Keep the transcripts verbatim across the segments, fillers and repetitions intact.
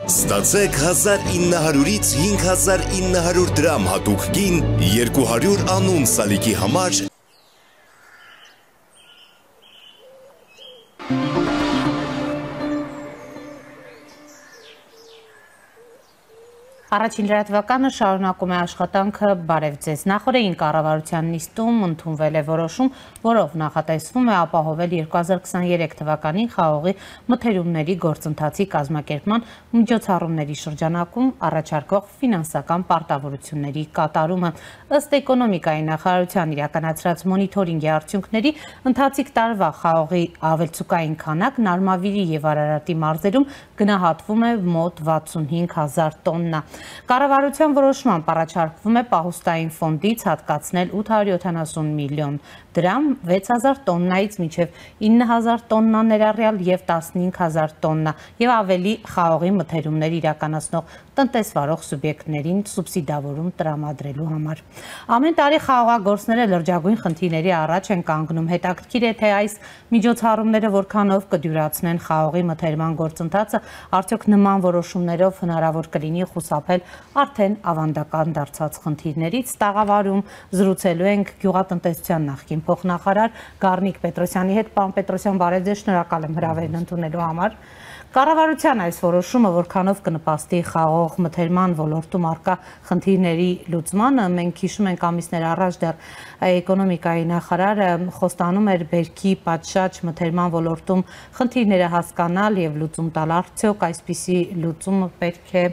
Ստացեք հազար ինը հարյուրից հինգ հազար ինը հարյուր դրամ հատուկ գին երկու հարյուր անուն սալիկի համար Առաջին լրատվականը շարունակում է աշխատանքը բարև ձեզ։ Նախորդին կառավարության նիստում ընդունվել է որոշում, որով նախատեսվում է ապահովել երկու հազար քսաներեք թվականին խաղողի մթերումների գործընթացի կազմակերպման միջոցառումների շրջանակում առաջարկվող ֆինանսական պարտավորությունների կատարումը։ Ըստ էկոնոմիկայի նախարարության իրականացրած մոնիթորինգի արդյունքների, ընթացիկ տարվա խաղողի ավելցուկային քանակն Արմավիրի եւ Արարատի մարզերում գնահատվում է մոտ վաթսունհինգ հազար տոննա։ Կառավարության որոշմամբ առաջարկվում է պահուստային ֆոնդից հատկացնել ութ հարյուր յոթանասուն միլիոն դրամ, վեց հազար տոննայից մինչև ինը հազար տոննա ներառյալ եւ տասնհինգ հազար տոննա եւ ավելի խաղողի մթերումներ իրականացնող տնտեսվարող սուբյեկտներին սուբսիդավորում տրամադրելու համար։ Ամեն տարի խաղողագործները լրջագույն խնդիրների առաջ են կանգնում։ Հետաքրքիր է, թե այս միջոցառումները որքանով կդյուրացնեն խաղողի մթերման գործընթացը, արդյոք նման որոշումներով հնարավոր կլինի խուսափել արդեն ավանդական դարձած խնդիրներից։ Տաղավարում զրուցելու ենք գյուղատնտեսության նախկին փոխնախարար Գառնիկ Պետրոսյանի հետ։ Պարոն Պետրոսյան, բարև ձեզ, շնորհակալ եմ հրավերն ընդունելու համար։ Կառավարության այս որոշումը որքանով կնպաստի խաղող մթերման ոլորտում առկա խնդիրների լուծմանը։ Մենք հիշում ենք ամիսներ առաջ դեռ էկոնոմիկայի նախարարը խոստանում էր բերքի պատշաճ մթերման ոլորտում խնդիրները հասկանալ եւ լուծում տալ։ Արդյոք այսպիսի լուծումը պետք է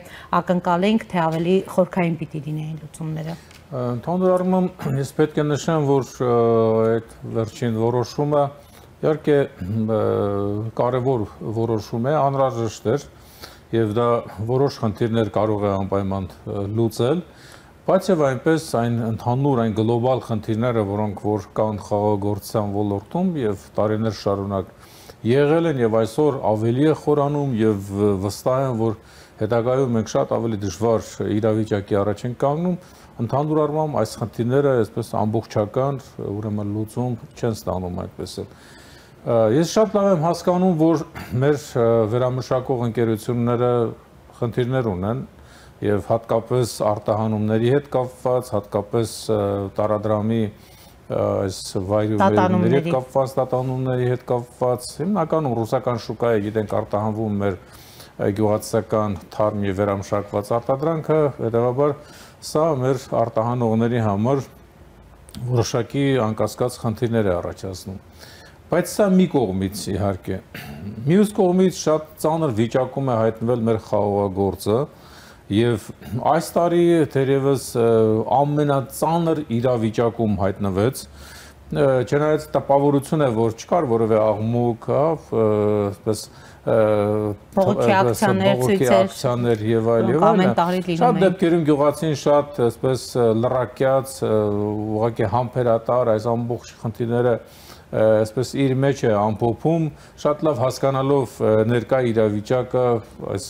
ակնկալենք, թե ավելի խորքային պիտի լինեին լուծումները։ Ընդհանուր առմամբ ես պետք է նշեմ, որ այդ վերջին որոշումը իհարկե կարևոր որոշում է, անհրաժեշտ էր եւ դա որոշ խնդիրներ կարող է անպայման լուծել, բայց եւ այնպես այն ընդհանուր այն գլոբալ խնդիրները, որոնք որ կան խաղողագործության ոլորտում եւ տարիներ շարունակ եղել են եւ այսօր ավելի է խորանում եւ վստահ եմ, որ հետագայում մենք շատ ավելի դժվար իրավիճակի առաջ ենք կանգնում, ընդհանուր առմամբ այս խնդիրները այսպես ամբողջական ուրեմն լուծում չեն ստանում այդպես էլ։ Ես շատ լավ եմ հասկանում, որ մեր վերամշակող ընկերությունները խնդիրներ ունեն եւ հատկապես արտահանումների հետ կապված, հատկապես տարադրամի այս վայրումների հետ կապված, տատանումների հետ կապված, հիմնականում ռուսական շուկայի գիտենք արտահանվում մեր գյուղատնտեսական թարմ եւ վերամշակված արտադրանքը, հետեւաբար սա մեր արտահանողների համար որոշակի անկասկած խնդիրներ է առաջացնում։ Բայց սա մի կողմից իհարկե։ Մյուս կողմից շատ ծանր վիճակում է հայտնվել մեր խաղողագործը եւ այս տարի թերևս ամենածանր իրավիճակում հայտնվեց, չնայած տպավորություն է, որ չկար որևէ աղմուկ, այսպես բողոքի ակցիաներ եւ այլ եւ այլ։ Շատ դեպքերում գյուղացին շատ այսպես լրակյաց, ուղղակի համբերատար այս ամբողջ խնդիրները այսպես իր մեջ է ամփոփում, շատ լավ հասկանալով ներկա իրավիճակը, այս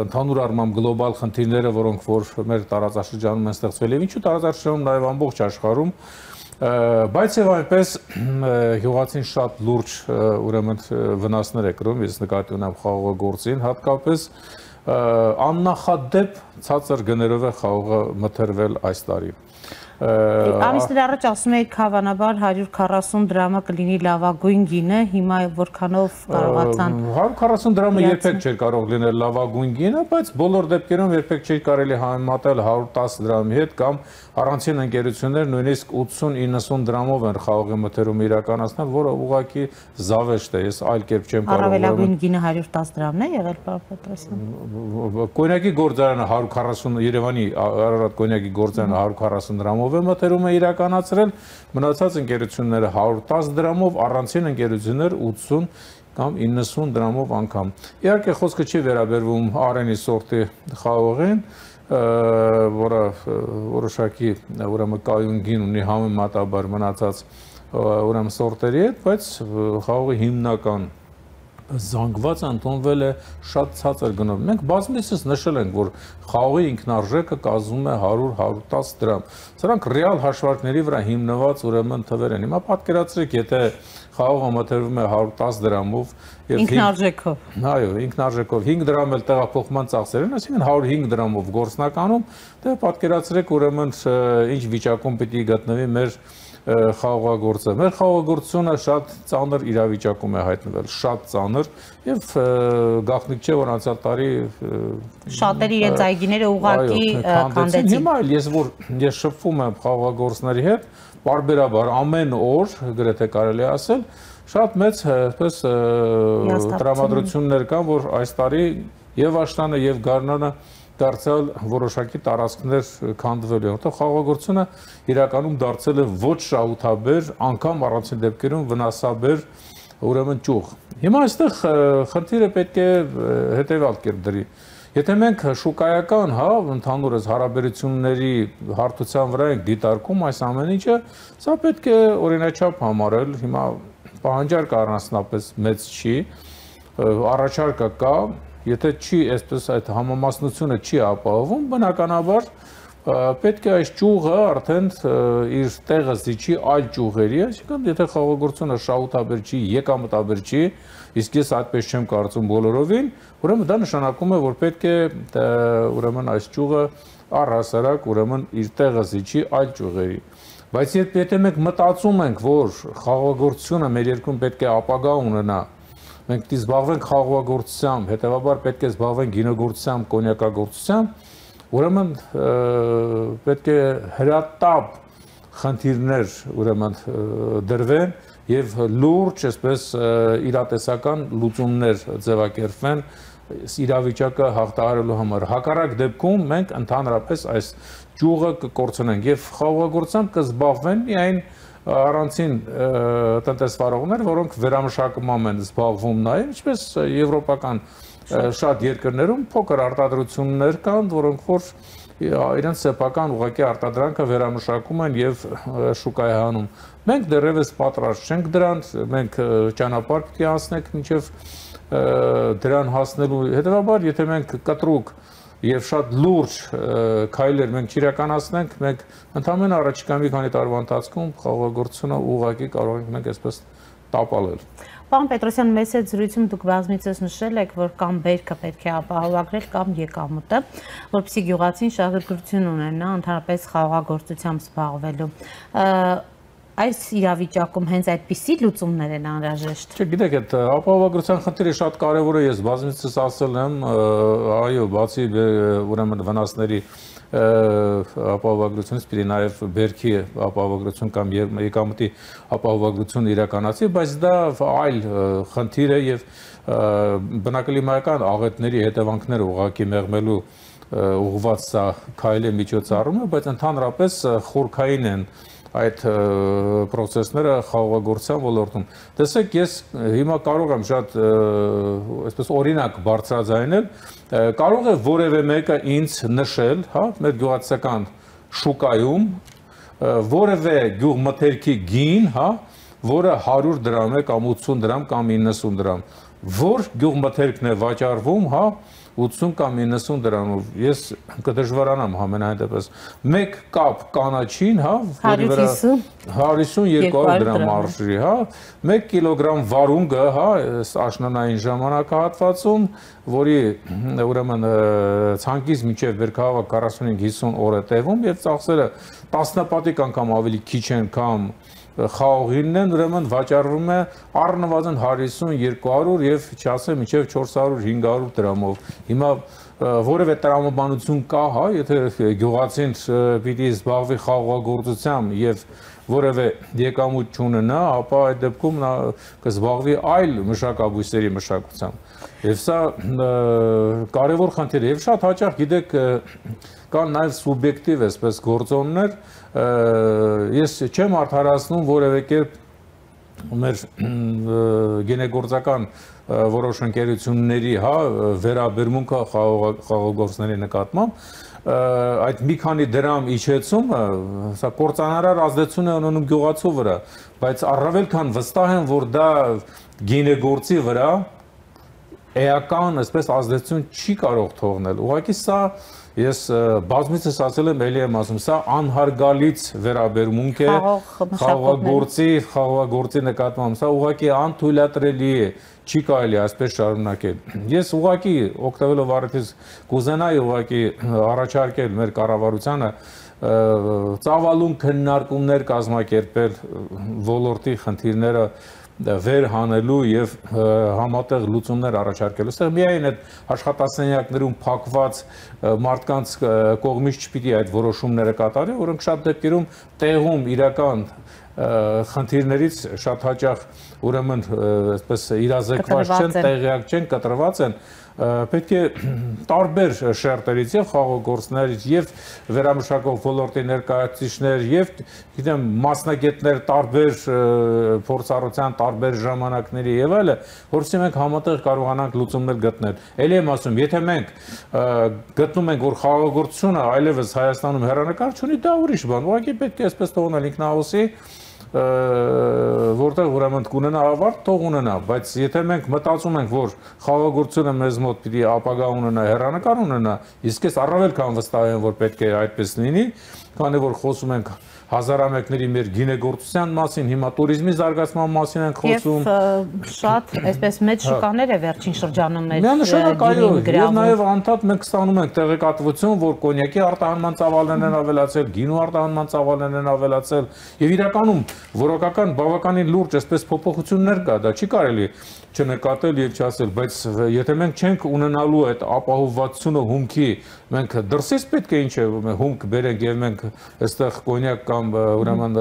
ընդհանուր առմամբ գլոբալ խնդիրները, որոնք որ մեր տարածաշրջանում են ստեղծվել եւ ինչու տարածաշրջանում նաեւ ամբողջ աշխարհում, բայց եւ այնպես գյուղացին շատ լուրջ ուրեմն վնասներ է կրում, ես նկատի ունեմ խաղողագործին, հատկապես աննախադեպ ցածր գներով է խաղողը մթերվել այս տարի։ Ամիսներ առաջ ասում եք հավանաբար հարյուր քառասուն դրամը կլինի լավագույն գինը, հիմա որքանով կարողացան հարյուր քառասուն դրամը երբեք չէր կարող լինել լավագույն գինը, բայց բոլոր դեպքերում երբեք չէր կարելի համեմատել հարյուր տասը դրամի հետ կամ առանցին ընկերություններ նույնիսկ ութսուն իննսուն դրամով են խաղողի մթերումը իրականացնել, որը ուղղակի զավեշտ է, ես այլ կերպ չեմ կարող։ Առավելագույն գինը հարյուր տասը դրամն է եղել, պարոն Պետրոսյան։ Կոնյակի գործարանը հարյուր քառասուն Երևանի Արարատ կոնյակի գործարանը հարյուր քառասուն դրամով է մթերում է իրականացրել, մնացած ընկերությունները հարյուր տասը դրամով, առանցին ընկերություններ ութսուն կամ իննսուն դրամով անգամ։ Իհարկե խոսքը չի վերաբերվում Արենի սորտի խաղողին, որը որոշակի ուրեմն կայուն գին ունի համեմատաբար մնացած ուրեմն սորտերի հետ, բայց խաղողի հիմնական զանգված ընդունվել է շատ ցածր գնով։ Մենք բազմիցս նշել ենք, որ խաղողի ինքնարժեքը կազմում է հարյուր հարյուր տասը դրամ։ Սրանք ռեալ հաշվարկների վրա հիմնված ուրեմն թվեր են։ Հիմա պատկերացրեք, եթե խաղողը մթերվում է հարյուր տասը դրամով ինքնարժեքով։ Այո, ինքնարժեքով հինգ դրամ էլ տեղափոխման ծախսեր են, այսինքն հարյուր հինգ դրամով գործնականում, դե պատկերացրեք ուրեմն ինչ վիճակում պիտի գտնվի մեր խաղողագործը։ Մեր խաղողագործությունը շատ ծանր իրավիճակում է հայտնվել, շատ ծանր եւ գաղտնիք չէ, որ անցյալ տարի շատերի իրենց այգիները ուղղակի քանդեցին։ Հիմա էլ ես որ ես շփվում եմ խաղողագործների հետ, բարբերաբար ամեն օր, գրեթե կարելի է ասել, շատ մեծ այսպես տրամադրություններ կան, որ այս տարի եւ աշնանը եւ գարնանը դարձյալ որոշակի տարածքներ քանդվելու են, որտեղ խաղողագործությունը իրականում դարձել է ոչ շահութաբեր, անգամ առանցին դեպքերում վնասաբեր ուրեմն ճյուղ։ Հիմա այստեղ խնդիրը պետք է հետևյալ կերպ դրի։ Եթե մենք շուկայական, հա, ընդհանուրս հարաբերությունների հարթության վրա ենք դիտարկում այս ամեն ինչը, սա պետք է օրինաչափ համարել, հիմա պահանջարկը առանձնապես մեծ չի, առաջարկը կա, եթե չի այսպես այդ համամասնությունը չի ապահովում, բնականաբար պետք է այս ճյուղը արդեն իր տեղը զիջի այլ ճյուղերի, այսինքն եթե խաղողագործությունը շահութաբեր չի, եկամտաբեր չի, իսկ ես այդպես չեմ կարծում բոլորովին, ուրեմն դա նշանակում է, որ պետք է ուրեմն այս ճյուղը առհասարակ ուրեմն իր տեղը զիջի այլ ճյուղերի։ Բայց եթե մենք մտածում ենք, որ խաղողագործությունը մեր երկրում պետք է ապագա ունենա, մենք պետք է զբաղվենք խաղողագործությամբ, հետևաբար պետք է զբաղվենք գինեգործությամբ, կոնյակագործությամբ, ուրեմն պետք է հրատապ խնդիրներ ուրեմն դրվեն եւ լուրջ, այսպես իրատեսական լուծումներ ձևակերպվեն իրավիճակը հաղթահարելու համար։ Հակառակ դեպքում մենք ընդհանրապես այս ճյուղը կկորցնենք եւ խաղողագործությամբ կզբաղվեն միայն առանցին տնտեսվարողներ, որոնք վերամշակումով են զբաղվում նաև, ինչպես եվրոպական շատ երկրներում փոքր արտադրություններ կան, որոնք որ իրենց սեփական ուղղակի արտադրանքը վերամշակում են եւ շուկայահանում։ Մենք դեռևս պատրաստ չենք դրան, մենք ճանապարհ պետք է անցնենք մինչեւ դրան հասնելու։ Հետևաբար, եթե մենք կտրուկ եւ շատ լուրջ քայլեր մենք իրականացնենք, մենք ընդհանրապես առաջիկա մի քանի տարվա ընթացքում խաղողագործությունը ուղղակի կարող ենք մենք այսպես տապալել։ Պարոն Պետրոսյան, մեծ այդ զրույցում դուք բազմիցս նշել եք, որ կամ բերքը պետք է ապահովագրել, կամ եկամուտը, որպեսզի գյուղացին շահագրգռություն ունենա ընդհանրապես խաղողագործությամբ զբաղվելու։ Այս իրավիճակում հենց այդպիսի լուծումներ են անհրաժեշտ։ Չգիտեք, այդ ապահովագրության խնդիրը շատ կարևոր է, ես բազմիցս ասել եմ, այո, բացի ուրեմն վնասների ապահովագրությունից պիտի նաև բերքի ապահովագրություն կամ եկամտի ապահովագրություն իրականացի, բայց դա այլ խնդիր է եւ բնակլիմայական աղետների հետևանքները ուղղակի մեղմելու ուղղված սա քայլի միջոցառումը, բայց ընդհանրապես խորքային են այդ process-ները խաղողագործության ոլորտում։ Տեսեք, ես հիմա կարող եմ շատ այսպես օրինակ բարձրաձայնել, կարող է որևէ մեկը ինձ նշել, հա, մեր գյուղացիական շուկայում որևէ գյուղմթերքի գին, հա, որը հարյուր դրամ է կամ ութսուն դրամ կամ իննսուն դրամ, որ գյուղմթերքն է վաճառվում, հա, ութսուն կամ իննսուն դրամով, ես կդժվարանամ համենայն դեպս, մեկ կապ կանաչին, հա, որի վրա հարյուր երկու դրամ արժի, հա, մեկ կիլոգրամ վարունգը, հա, աշնանային ժամանակահատվածում, որի ուրեմն ցանկից մինչև բերքահավաք քառասունհինգ հիսուն օր է տևում եւ ծախսերը տասնապատիկ անգամ ավելի քիչ են կամ խաղողինն են, ուրեմն վաճառվում է առնվազն հարյուր երկու հարյուր եւ չասեմ մինչեւ չորս հարյուր հինգ հարյուր դրամով։ Հիմա որևէ տրամաբանություն կա, հա, եթե գյուղացին պիտի զբաղվի խաղողագործությամբ եւ որևէ եկամուտ չունենա, ապա այդ դեպքում նա կզբաղվի այլ մշակաբույսերի մշակությամբ։ Եվ սա կարևոր խնդիր է եւ շատ հաճախ գիտեք կան նաեւ սուբյեկտիվ այսպես գործոններ, ես չեմ արդարացնում որևէ կերպ մեր գինեգործական որոշ ընկերությունների, հա, վերաբերմունքը խաղողագործների նկատմամբ, այդ մի քանի դրամ իջեցումը, սա կործանարար ազդեցություն է ունենում գյուղացու վրա, բայց առավել քան վստահ եմ, որ դա գինեգործի վրա էական, այսպես ազդեցություն չի կարող թողնել։ Ուղղակի սա ես բազմիցս ասել եմ, ելի եմ ասում, սա անհարգալից վերաբերմունք է խաղաղագործի, խաղաղագործի նկատմամբ, սա ուղղակի անթույլատրելի է, չի կարելի այսպես շարունակել։ Ես ուղղակի օգտվելով առիթից կուզենայի ուղղակի առաջարկել մեր կառավարությանը ծավալուն քննարկումներ կազմակերպել ոլորտի խնդիրները վեր հանելու եւ համատեղ լուծումներ առաջարկելու։ Այստեղ միայն այդ աշխատասենյակներում փակված մարդկանց կողմից չպիտի այդ որոշումները կատարվի, որոնք շատ դեպքերում տեղում իրական խնդիրներից շատ հաճախ ուրեմն այսպես իրազեկված չեն, տեղյակ չեն, կտրված են, պետք է տարբեր շերտերից եւ խաղաղագործներից եւ վերամշակող ոլորտի ներկայացուցիչներ եւ գիտեմ մասնագետներ տարբեր փորձառության տարբեր ժամանակների եւ այլը, որովհետեւ մենք համատեղ կարողանանք լուծումներ գտնել։ Էլի եմ ասում, եթե մենք գտնում ենք, որ խաղաղագործությունը այլևս Հայաստանում հեռանկար չունի, դա ուրիշ բան, ուղղակի պետք է այսպես թողնել ինքնահոսի որտեղ ուրեմն կունենա ավարտ, թող ունենա, բայց եթե մենք մտածում ենք, որ խաղաղագործությունը մեզ մոտ պիտի ապագա ունենա, հեռանկար ունենա, իսկ ես առավել քան վստահ եմ, որ պետք է այդպես լինի, քանի որ խոսում ենք հազարամյակների մեր գինեգործության մասին, հիմա туриզմի զարգացման մասին ենք խոսում։ Եվ շատ այսպես մեծ շուկաներ է վերջին շրջանում մեր միանշանակ այո, եւ նաեւ անդադ մենք ստանում ենք տեղեկատվություն, որ կոնյակի արտահանման ծավալներն են ավելացել, գինու արտահանման ծավալներն են ավելացել, եւ իրականում որակական բավականին լուրջ այսպես փոփոխություններ կա, դա չի կարելի չնկատել եւ չասել, բայց եթե մենք չենք ունենալու այդ ապահովվածությունը հումքի, մենք դրսից պետք է ինչ է հումք բերենք եւ մենք այստեղ կոնյակ կամ ուրեմն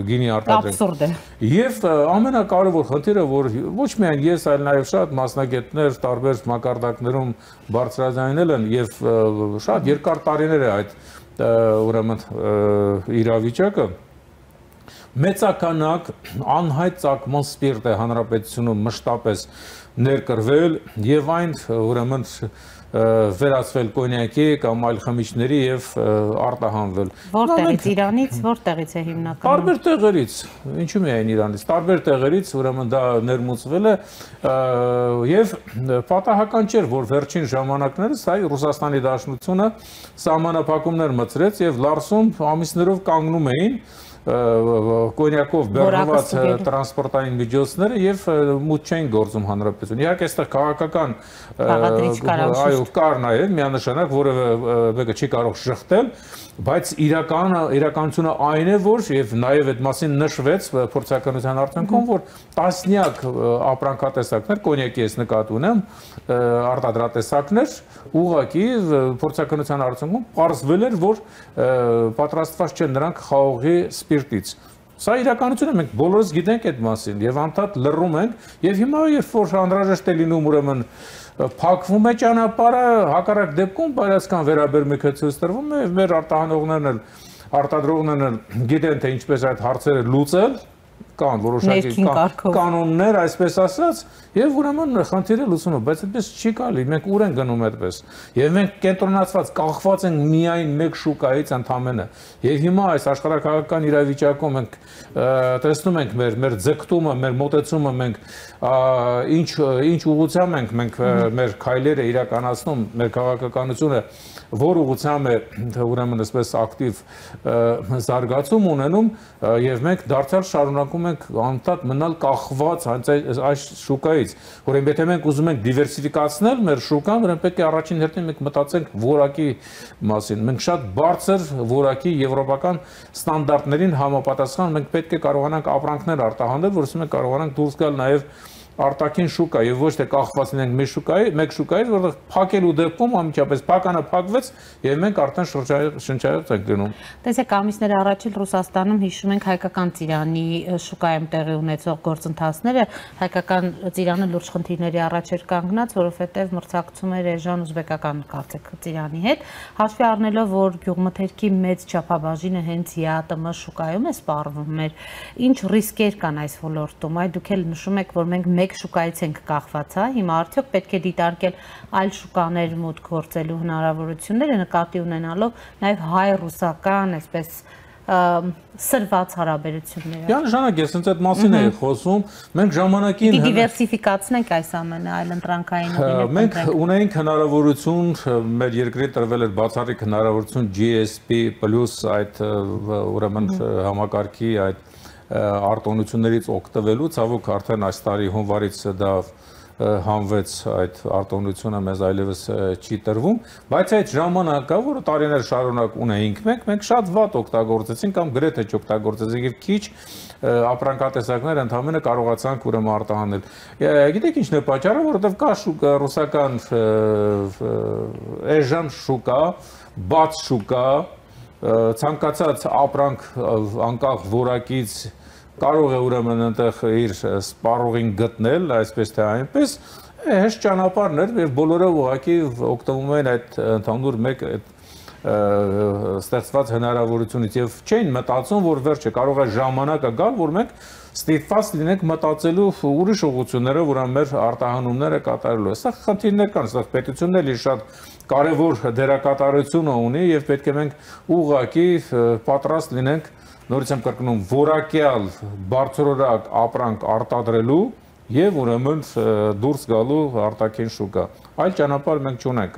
գինի արտադրենք։ Աբսուրդ է։ Եվ ամենակարևոր խնդիրը, որ ոչ միայն ես, այլ նաեւ շատ մասնագետներ տարբեր մակարդակներում բարձրաձայնել են եւ շատ երկար տարիներ է այդ ուրեմն իրավիճակը մեծականակ անհայտ ծագման սպիրտ է հանրապետությունում մշտապես ներկրվել եւ այն ուրեմն վերածվել կոնյակի կամ այլ խմիչքների եւ արտահանվել։ Որտեղից Իրանից, որտեղից է հիմնականում։ Տարբեր տեղերից, ինչու՞ միայն Իրանից, տարբեր տեղերից ուրեմն դա ներմուծվել է եւ պատահական չէր, որ վերջին ժամանակներս այ Ռուսաստանի Դաշնությունը սահմանափակումներ մտցրեց եւ Լարսում ամիսներով կանգնում էին կոնյակով բեռնված տրանսպորտային միջոցները եւ մուտք չեն գործում հանրապետություն։ Իհարկե այստեղ քաղաքական այո կար նաեւ միանշանակ որևէ մեկը չի կարող շղթել, բայց իրականը իրականությունը այն է, որ եւ նաեւ այդ մասին նշվեց փորձականության արդյունքում, որ տասնյակ ապրանքատեսակներ կոնյակի ես նկատի ունեմ արտադրատեսակներ ուղղակի փորձականության արդյունքում պարզվել էր, որ պատրաստված չեն նրանք խաղողի սպիրտից։ Սա իրականություն է, մենք բոլորս գիտենք այդ մասին եւ անդադ լռում ենք եւ հիմա երբ որ անհրաժեշտ է լինում ուրեմն փակվում է ճանապարհը, հակառակ դեպքում բարասական վերաբերմունքը ցույց տրվում է, մեր արտահանողներն էլ արտադրողներն էլ գիտեն թե ինչպես այդ հարցերը լուծել, կան որոշակի կանոններ, այսպես ասած, եւ ուրեմն խնդիրը լուծում է, բայց այդպես չի կարելի, մենք ուր են գնում այդպես։ Եվ մենք կենտրոնացված, կախված ենք միայն մեկ շուկայից ընդամենը։ Եվ հիմա այս աշխարհակաղակական իրավիճակում մենք տեսնում ենք մեր մեր ձգտումը, մեր մոտեցումը, մենք ինչ ինչ ուղղությամբ ենք մենք մեր քայլերը իրականացնում, մեր քաղաքականությունը որ ուղղությամբ է ուրեմն այսպես ակտիվ զարգացում ունենում եւ մենք դարձյալ շարունակում ենք անդադ մնալ կախված այս շուկայից, որովհետեւ եթե մենք ուզում ենք դիվերսիֆիկացնել մեր շուկան, ուրեմն պետք է առաջին հերթին մենք մտածենք որակի մասին։ Մենք շատ բարձր որակի եվրոպական ստանդարտներին համապատասխան մենք պետք է կարողանանք ապրանքներ արտահանել, որովհետեւ մենք կարողանանք դուրս գալ նաեւ արտաքին շուկա եւ ոչ թե կախված լինենք մեր շուկայի, մեկ շուկայից, որտեղ փակելու դեպքում անմիջապես փականը փակվեց եւ մենք արդեն շնչայց ենք գնում։ Տեսեք, ամիսներ առաջ էլ Ռուսաստանում հիշում ենք հայկական ծիրանի շուկայում տեղի ունեցող գործընթացները, հայկական ծիրանը լուրջ խնդիրների առաջ էր կանգնած, որովհետեւ մրցակցում էր էժան ուզբեկական կարծեք ծիրանի հետ, հաշվի առնելով, որ գյուղմթերքի մեծ չափաբաժինը հենց ԵԱՏՄ շուկայում է սպառվում մեր, ինչ ռիսկեր կան այս ոլորտում, այ դուք էլ նշում եք, որ մենք մեկ շուկայից ենք կախված, հա, հիմա արդյոք պետք է դիտարկել այլ շուկաներ մուտք գործելու հնարավորությունները նկատի ունենալով նաև հայ-ռուսական, այսպես սրված հարաբերությունները։ Միանշանակ ես հենց այդ մասին էի խոսում, մենք ժամանակին Պիտի դիվերսիֆիկացնենք այս ամենը այլընտրանքային ուղիներ։ Մենք ունենք հնարավորություն, մեր երկրի տրվել էր բացառիկ հնարավորություն G S P plus այդ ուրեմն համակարգի այդ արտոնություններից օգտվելու, ցավոք արդեն այս տարի հունվարից դա հանվեց այդ արտոնությունը մեզ այլևս չի տրվում, բայց այդ ժամանակը, որը տարիներ շարունակ ունեինք մենք, մենք շատ վատ օգտագործեցինք կամ գրեթե չօգտագործեցինք եւ քիչ ապրանքատեսակներ ընդհանրապես կարողացանք ուրեմն արտահանել։ Գիտեք ինչն է պատճառը, որովհետեւ կա շուկա, ռուսական էժան շուկա, բաց շուկա, ցանկացած ապրանք անկախ որակից կարող է ուրեմն այնտեղ իր սպառողին գտնել, այսպես թե այնպես, հեշտ ճանապարհներ եւ բոլորը ուղղակի օգտվում են այդ ընդհանուր մեկ այդ ստեղծված հնարավորությունից եւ չէին մտածում, որ վերջը կարող է ժամանակը գալ, որ մենք ստիպված լինենք մտածելու ուրիշ ուղղություններով, որ մեր արտահանումները կատարելու։ Այստեղ խնդիրներ կան, այստեղ պետությունն էլի շատ կարևոր դերակատարություն ունի եւ պետք է մենք ուղղակի պատրաստ լինենք նորից եմ կրկնում որակյալ բարձրորակ ապրանք արտադրելու եւ ուրեմն դուրս գալու արտաքին շուկա։ Այլ ճանապարհ մենք չունենք։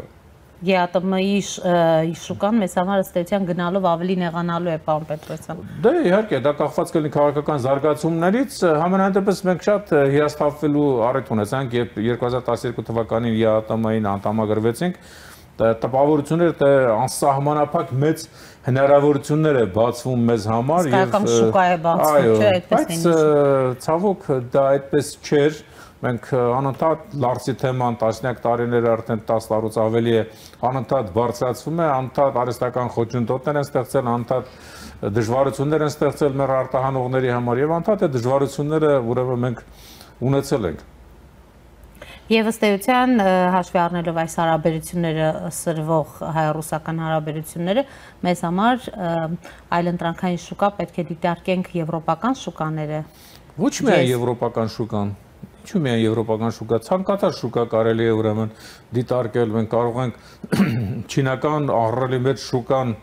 Ե Ա Տը Մ-ի շուկան մեզ համար ըստ էության գնալով ավելի նեղանալու է, պարոն Պետրոսյան։ Դե իհարկե, դա կախված կլինի քաղաքական զարգացումներից, համենայնդեպս մենք շատ հիասթափվելու առիթ ունեցանք, երբ երկու հազար տասներկու թվականին Ե Ա Տը Մ-ին անդամագրվեցինք, տպավորությունները անսահմանափակ մեծ հնարավորություններ է բացվում մեզ համար եւ շուկա է բացվում, չէ՞, այդպես է։ Բայց ցավոք դա այդպես չէր։ Մենք անընդհատ լարսի թեման տասնյակ տարիներ արդեն տասը տարուց ավելի է անընդհատ բարձրացվում է, անընդհատ արհեստական խոչընդոտներ են ստեղծել, անընդհատ դժվարություններ են ստեղծել մեր արտահանողների համար եւ անընդհատ այդ դժվարությունները ուրեմն մենք ունեցել ենք։ Եվ ըստ էության հաշվի առնելով այս հարաբերությունները սրվող հայ-ռուսական հարաբերությունները մեզ համար այլընտրանքային շուկա պետք է դիտարկենք եվրոպական շուկաները։ Ոչ միայն եվրոպական շուկան, ինչու միայն եվրոպական շուկա, ցանկացած շուկա կարելի է ուրեմն դիտարկել, մենք կարող ենք չինական ահռելի մեծ շուկան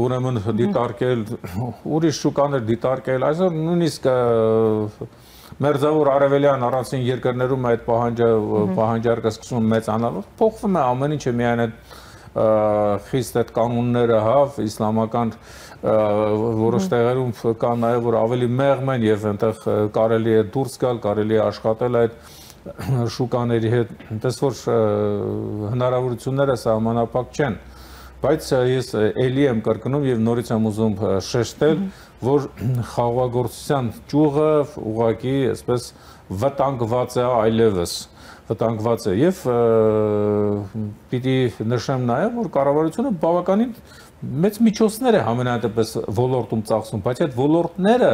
ուրեմն դիտարկել, ուրիշ շուկաներ դիտարկել, այսօր նույնիսկ Մերձավոր արևելյան առանցին երկրներում այդ պահանջարկը սկսում մեծանալ, փոխվում է ամեն ինչը միայն այդ խիստ այդ կանոնները, հա, իսլամական որոշ տեղերում կան նաև որ ավելի մեղմ են եւ այնտեղ կարելի է դուրս գալ, կարելի է աշխատել այդ շուկաների հետ, այնպես որ հնարավորությունները սահմանափակ չեն։ Բայց ես էլի եմ կրկնում եւ նորից եմ ուզում շեշտել, որ խաղաղագործության ճյուղը ուղղակի այսպես վտանգված է այլևս, վտանգված է եւ պիտի նշեմ նաեւ, որ կառավարությունը բավականին մեծ միջոցներ է համենայնպես ոլորտում ծախսում, բայց այդ ոլորտները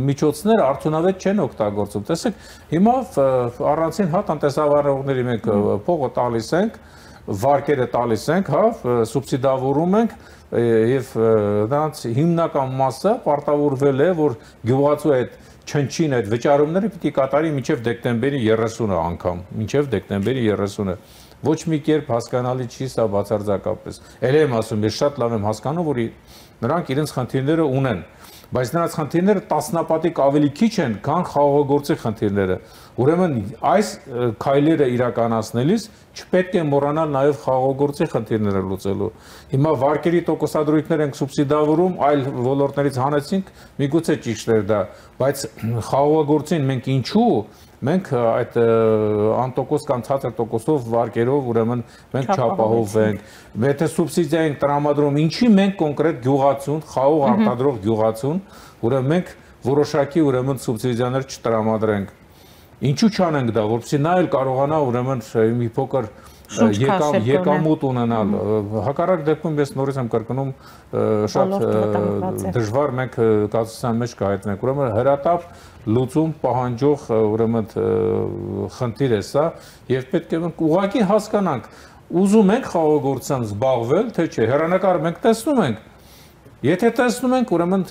միջոցները արդյունավետ չեն օգտագործում։ Տեսեք, հիմա առանցին հա տնտեսավարողների մենք փողը տալիս ենք, վարկերը տալիս ենք, հա, սուբսիդավորում ենք եւ դրանց հիմնական մասը պարտավորվել է, որ գյուղացու այդ չնչին այդ վճարումները պիտի կատարի մինչեւ դեկտեմբերի երեսունը անգամ, մինչեւ դեկտեմբերի երեսունը։ Ոչ մի կերպ հասկանալի չի սա բացարձակապես։ Էլ եմ ասում, ես շատ լավ եմ հասկանում, որ նրանք իրենց խնդիրները ունեն, բայց նրանց խնդիրները տասնապատիկ ավելի քիչ են, քան խաղաղագործի խնդիրները։ Ուրեմն այս քայլերը իրականացնելիս չպետք է մոռանալ նաև խաղաղագործի խնդիրները լուծելու։ Հիմա վարկերի տոկոսադրույքներ ենք սուբսիդավորում, այլ ոլորտներից հանեցինք, միգուցե ճիշտ էր դա, բայց խաղաղագործին մենք ինչու մենք այդ անտոկոս կամ ցածր տոկոսով վարկերով ուրեմն մենք չապահովենք։ Եթե սուբսիդիա ենք տրամադրում, ինչի մենք կոնկրետ գյուղացուն, խաղող արտադրող գյուղացուն, ուրեմն մենք որոշակի ուրեմն սուբսիդիաներ չտրամադրենք։ Ինչու չանենք դա, որպեսզի նա էլ կարողանա ուրեմն մի փոքր եկամուտ ունենալ։ Հակառակ դեպքում ես նորից եմ կրկնում շատ դժվար մենք կացության մեջ կհայտնենք։ Ուրեմն հրատապ լուծում պահանջող ուրեմն խնդիր է սա եւ պետք է մենք ուղղակի հասկանանք, ուզում ենք խաղաղագործությամբ զբաղվել, թե չէ։ Հեռանկար մենք տեսնում ենք։ Եթե տեսնում ենք, ուրեմն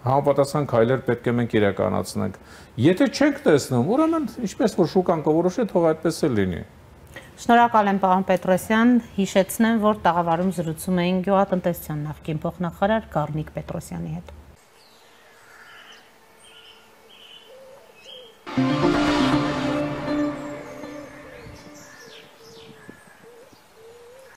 համապատասխան քայլեր պետք է մենք իրականացնենք։ Եթե չենք տեսնում, ուրեմն ինչպես որ շուկան կորոշի, թող այդպես էլ լինի։ Շնորհակալ եմ պարոն Պետրոսյան, հիշեցնեմ, որ տաղավարում զրուցում էին գյուղատնտեսության նախկին փոխնախարար Գառնիկ Պետրոսյանի հետ։